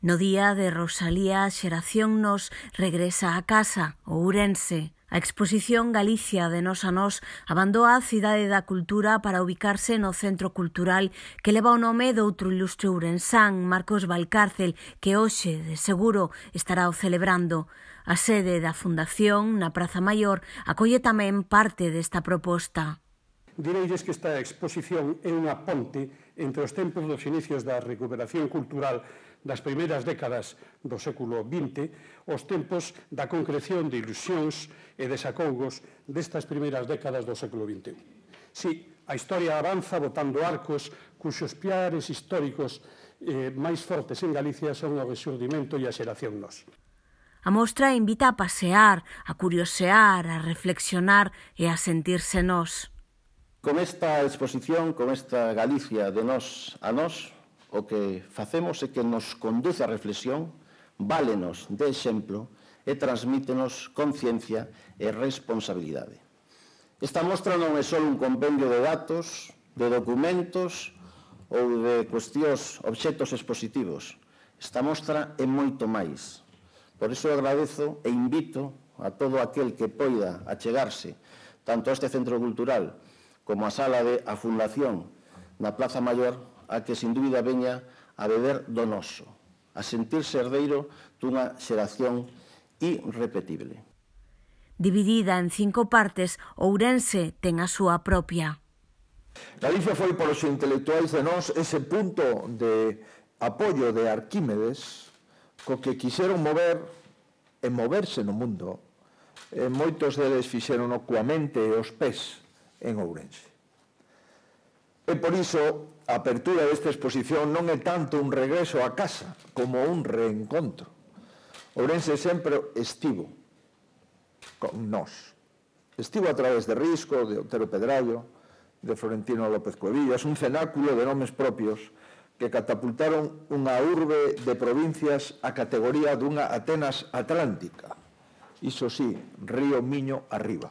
No día de Rosalía, a xeración nos regresa a casa, o Ourense. A exposición Galicia de Nós a Nós abandoa a Cidade da Cultura para ubicarse no Centro Cultural que leva o nome doutro ilustre ourensán, Marcos Valcárcel, que hoxe, de seguro, estará o celebrando. A sede da Fundación, na Praza Maior, acolle tamén parte desta proposta. Direilles que esta exposición é unha ponte entre os tempos dos inicios da recuperación cultural das primeiras décadas do século XX, os tempos da concreción de ilusións e desacougos destas primeiras décadas do século XXI. Si, a historia avanza botando arcos cuxos piares históricos máis fortes en Galicia son o resurdimento e a xeración Nós. A mostra invita a pasear, a curiosear, a reflexionar e a sentirse nós. Con esta exposición, con esta Galicia de Nós a Nós, o que facemos é que nos conduce a reflexión, válenos de exemplo e transmítenos conciencia e responsabilidade. Esta mostra non é só un compendio de datos, de documentos ou de cuestións, obxectos expositivos. Esta mostra é moito máis. Por iso agradezo e invito a todo aquel que poida achegarse tanto a este centro cultural como a sala de a Fundación na Plaza Maior, a que sin dúbida veña a beber do noso, a sentirse herdeiro dunha xeración irrepetible. Dividida en 5 partes, Ourense ten a súa propia. Galicia foi polos intelectuais de Nós ese punto de apoio de Arquímedes co que quixeron mover e moverse no mundo. Moitos deles fixeron coa mente e os pés en Ourense. E por iso, a apertura desta exposición non é tanto un regreso a casa como un reencontro. Ourense sempre estivo con nós. Estivo a través de Risco, de Otero Pedrallo, de Florentino López Cuevillas, un cenáculo de nomes propios que catapultaron unha urbe de provincias a categoría dunha Atenas atlántica. Iso sí, Río Miño arriba.